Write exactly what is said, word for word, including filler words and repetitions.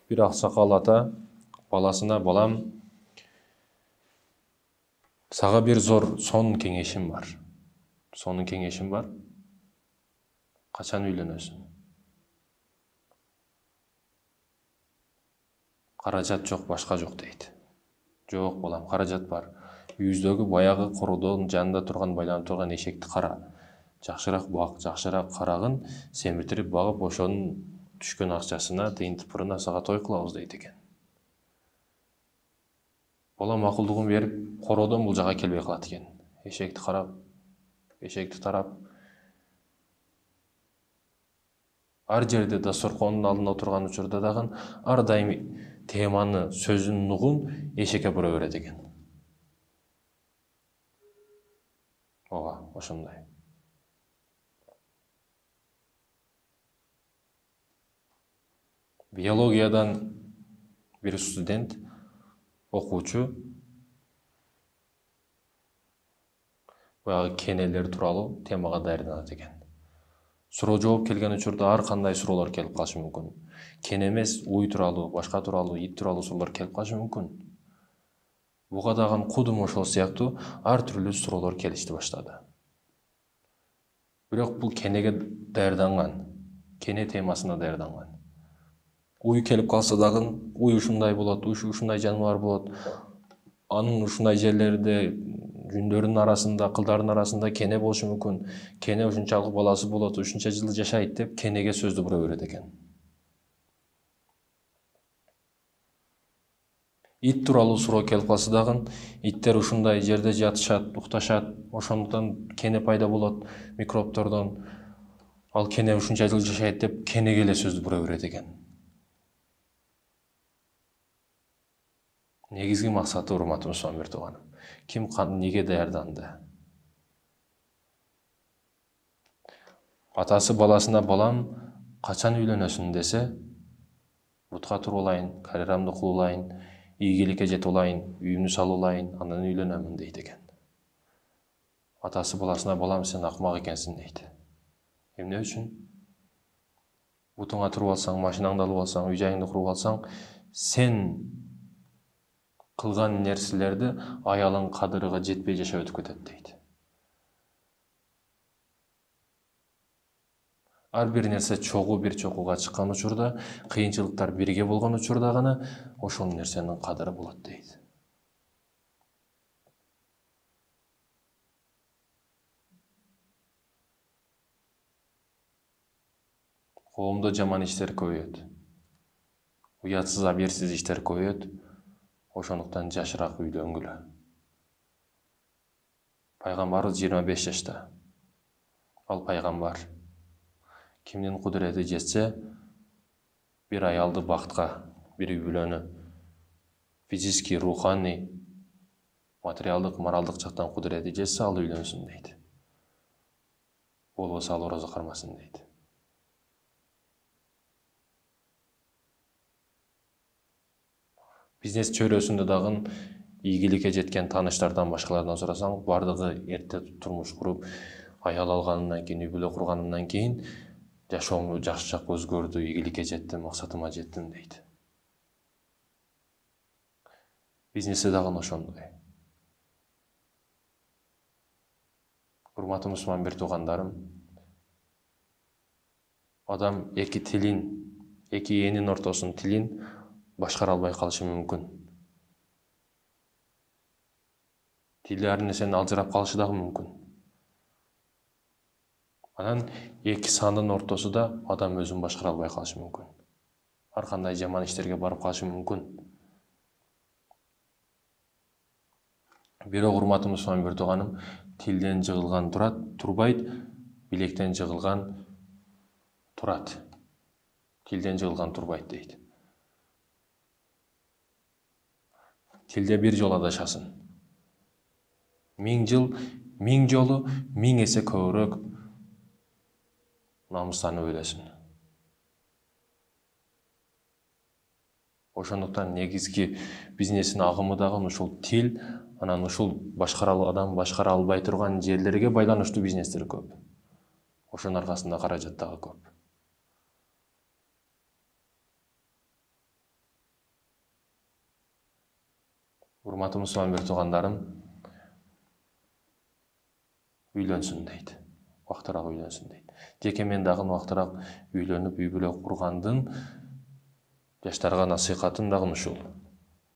Бир аксакал ата баласына: балам, сага бир зор сонун кеңешим бар. Сонун кеңешим бар. Качан үйлөнөсүң? Каражат жок, башка жок дейт. Жок балам, каражат бар. Үйүздөгү баягы короодон жанында турган, байланып турган эшекти кара. Жакшыраак бак, жакшыраак карагын семиртирип багып, ошонун түшкөн акчасына, тыйын тыпырына сага той кылабыз дейт экен. Бала макулдугун берип, короодон бул жака келбей калат экен. Эшекти карап, эшекти тарап, ар жерде дасторкондун алдында отурган учурда дагы ар дайым теманы, сөзүн нугун эшекке бура берет экен. Ооба, ошондой. Биологиядан бир студент, окуучу баягы кенелер тууралуу темага даярданат экен. Суроо жооп келген учурда ар кандай суроолор келип калышы мүмкүн. Кене эмес, уй тууралуу, башка тууралуу, ит тууралуу суроолор келип калышы мүмкүн. Буга дагы кудум ошол сыяктуу ар түрлүү суроолор келишти баштады. Бирок бул кенеге даярданган, кене темасына даярданган. Уй келип калса дагы, уй ушундай болот, ушундай жаныбар болот. Анын ушундай жерлерде жүндөрүнүн арасында, кылдардын арасында кене болушу мүмкүн. Кене ушунчалык баласы болот, ушунча жыл жашайт деп кенеге сөздү бура берет экен. Ит тууралуу суроо келип калса дагы, иттер ушундай жерде жатышат, укташат, ошондуктан кене пайда болот микробтордон. Ал кене ушунча жыл жашайт деп кенеге эле сөздү бура берет экен. Негизги максаты, урматтуу мусулман бир тууганым, ким неге даярданды? Атасы баласына: балам, качан үйлөнөсүң десе, бутка туруп алайын, карьерамды кылуулайын, ийгиликке жетип алайын, үйүмдү салып алайын, анан үйлөнөмүн дейт экен. Атасы баласына: балам, сен акмак экенсиң дейт. Эмне үчүн? Бутуңа туруп алсаң, машинаңды алып алсаң, үй жайыңды куруп алсаң, сен кылган нерселерди аялың кадырыга жетпей жашап өтүп кетет дейт. Ар бир нерсе чогуу бир чокуга чыккан учурда, кыйынчылыктар бирге болгон учурда гана ошол нерсенин кадыры болот дейт. Коомдо жаман иштер көбөйөт. Уятсыз, абийирсиз иштер көбөйөт. Ошондуктан жашыраак үйлөнгүлө. Пайгамбарыбыз жыйырма беш жашта. Ал пайгамбар. Кимдин кудурети жетсе, бир аялды бактка, бир үй бүлөнү физический, руханий, материалдык, моралдык жактан кудурети жетсе, ал үйлөнсүн дейт. Болбосо ал орозо кармасын дейт. Бизнес чөйрөсүндө дагы ийгиликке жеткен тааныштардан, башкалардан сурасаң, бардыгы эрте турмуш куруп, аял алганынан кийин, үй бүлө курганынан кийин жашоомду жакшы жакка өзгөрдү, ийгиликке жеттим, максатыма жеттим дейт. Бизнесте дагы ошондой. Урматтуу мусулман бир туугандарым, адам эки тилин, эки энин ортосунун тилин башкара албай калышы мүмкүн. Тили ар нерсени алжырап калышы дагы мүмкүн. Анан эки сандын ортосунда адам өзүн башкара албай калышы мүмкүн. Ар кандай жаман иштерге барып калышы мүмкүн. Бирок урматтуу мусулман бир тууганым, тилден жыгылган турат, турбайт, билектен жыгылган турат. Тилден жыгылган турбайт дейт. Тилде бир жолу адашасың. Миң жыл, миң жолу, миң эсе көбүрөөк намыстанып өлөсүң. Ошондуктан негизги бизнестин агымы дагы ушул тил, анан ушул башкара адам башкара албай турган жерлерге байланыштуу бизнестер көп. Ошонун аркасында каражат дагы көп. Урматтуу мусулман бир туугандарым, үйлөнсүн дейт. Убактыраак үйлөнсүн дейт. Жеке мен дагы убактыраак үйлөнүп, үй бүлө кургандын жаштарга насыйхатым дагы ушул.